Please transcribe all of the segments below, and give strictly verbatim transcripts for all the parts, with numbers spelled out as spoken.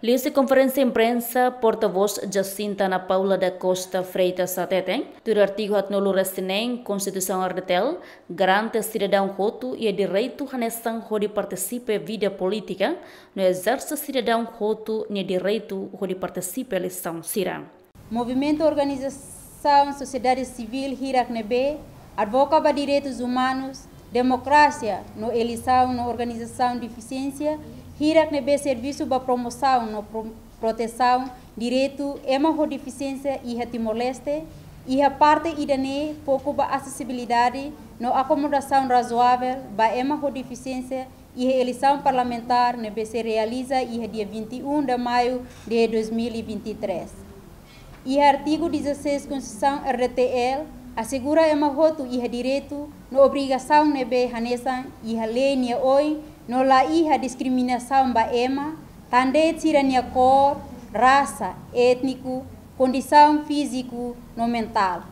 Liuhusi konferénsia imprensa, portavós Jacinta Ana Paula da Costa Freitas hateten, tuir artigu haatnulu-resin-neen Konstituisaun R D T L, garante sidadaun hotu iha direitu hanesan hodi partisipa vida polítika, no ezerse sidadaun hotu nia direitu hodi partisipa eleisaun sira. Movimentu, organizasaun sosiedade sivíl hirak ne'ebé advoga ba direitus umanus, demokrasia no eleisaun, no organizasaun defisiénsia hirak ne'ebé servisu ba promosaun no pro-, protesaun direitu ema ho defisiénsia iha Timor-Leste, iha parte ida-ne'e foku ba asesibilidade no akomodasaun razoável ba ema ho defisiénsia iha eleisaun parlamentár ne'ebé sei realiza iha dia vinte e um de maio de dois mil e vinte e três. Iha artigu dezasseis Konstituisaun R D T L, asegura ema hotu iha direitu no obrigasaun ne'ebé hanesan iha lei nia oin, no la iha diskriminasaun ba ema, tan de'it sira-nia kór, rasa, étniku, kondisaun fíziku no mentál.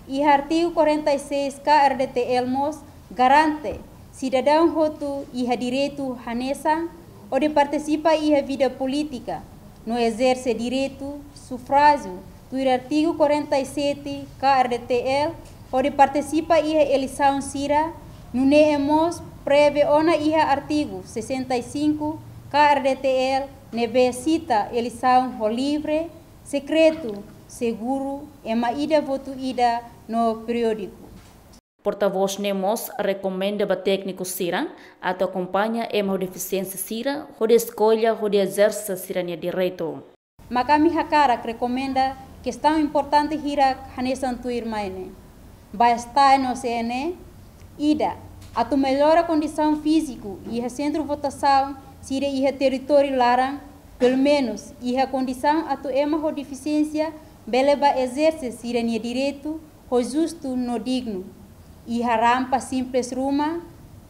Iha artigu quarenta e seis K R D T L mós garante sidadaun hotu iha direitu hanesan hodi partisipa iha vida polítika, no ezerse direitu sufrájiu tuir artigu quarenta e sete K R D T L, hodi partisipa iha eleisaun sira, nune'e mós prevee ona iha artigu sessenta e cinco K R D T L, ne'ebé sita eleisaun ho livre, sekretu, seguru, ema ida votu ida no periódiku. Portavós ne'e mós rekomenda ba tékniku sira atu akompaña ema ho defisiénsia sira hodi eskolla hodi ezerse sira-nia direitu. Mak ami hakarak rekomenda kestaun importante hirak hanesan tuirmai ne'e. Ba STAE no CNE, ida, atu mellora kondisaun fíziku iha sentru votasaun sira iha territóriu laran, pelumenus iha kondisaun atu ema ho defisiénsia bele ba ezerse sira-nia direitu ho justu no dignu. Iha rampa simples ruma,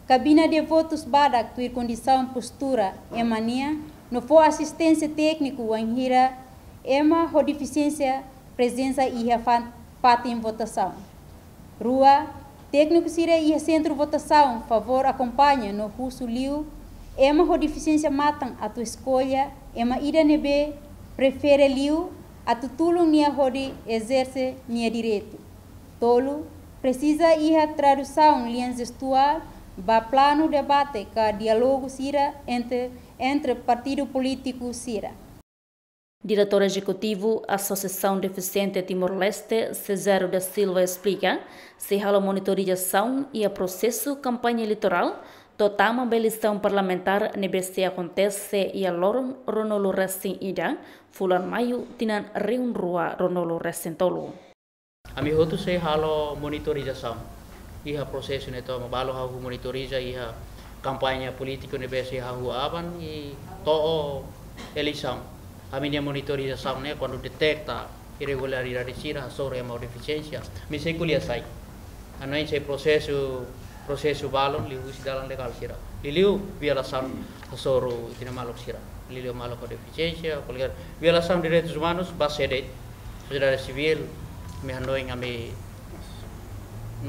kabina de votus badak tuir kondisaun postura ema nian, no fó asisténsia tékniku wainhira ema ho defisiénsia prezensa iha fa-, fatin votasaun. Rua, tékniku sira iha sentru votasaun favór akompaña no husu liu ema ho defisiénsia matan atu eskolla ema ida ne'ebé prefere liu atu tulun nia hodi ezerse nia direitu. Tolu, presiza iha tradusaun lian jestuál ba planu debate ka diálogu sira entre, entre partidu polítiku sira. Diretór Ezekutivu Asosiasaun Defisiente Timor-Leste, Cesáreo da Silva, esplika, sei halo monitorizasaun iha prosesu kampaña eleitorál, to'o tama ba eleisaun parlamentár ne'ebé sei akontese iha loron ruanulu-resin-ida, fulan Maiu, tinan rihun rua ruanulu-resin-tolu. Ami hotu sei halo monitorizasaun iha prosesu ne'e tomak, balu ha'u monitoriza iha kampaña polítiku ne'ebé sei hahú aban i to'o eleisaun. Ami-nia monitorizasaun ne'e kuandu deteta irregularidade sira, hasoru ema ho defisiénsia, ami sei ko'alia sai. Hanoin sei prosesu, prosesu balun liuhusi dalan legál sira. Liuliu violasaun hasoru ita-nia maluk sira. Liuliu maluk ho defisiénsia, kualkér violasaun direitus umanus, ba sé de'it, sosiedade sivíl, ami hanoin ami,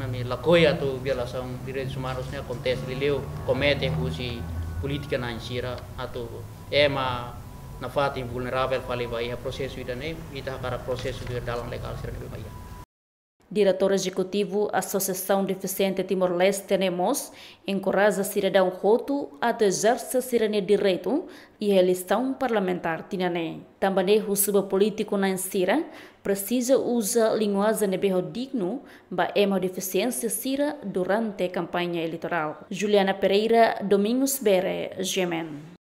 ami lakohi atu violasaun direitus umanus ne'e akontese, liuliu komete husi polítika na'in sira atu ema nafatin vulneravel fali ba iha prosesu ida-ne'e, ita hakarak prosesu tuir dalan legál sira ne'ebé ba iha. Diretór Ezekutivu Asosiasaun Defisiente Timor-Leste ne'e mós enkoraja sidadaun hotu atu ezerse sira-nia direitu iha eleisaun parlamentár tinan ne'e. Tanba ne'e husu ba polítiku na'in sira presiza uza linguajen ne'ebé ho dignu ba ema ho defisiénsia sira durante kampaña eleitorál. Juliana Pereira, Domingos Bere, G M N.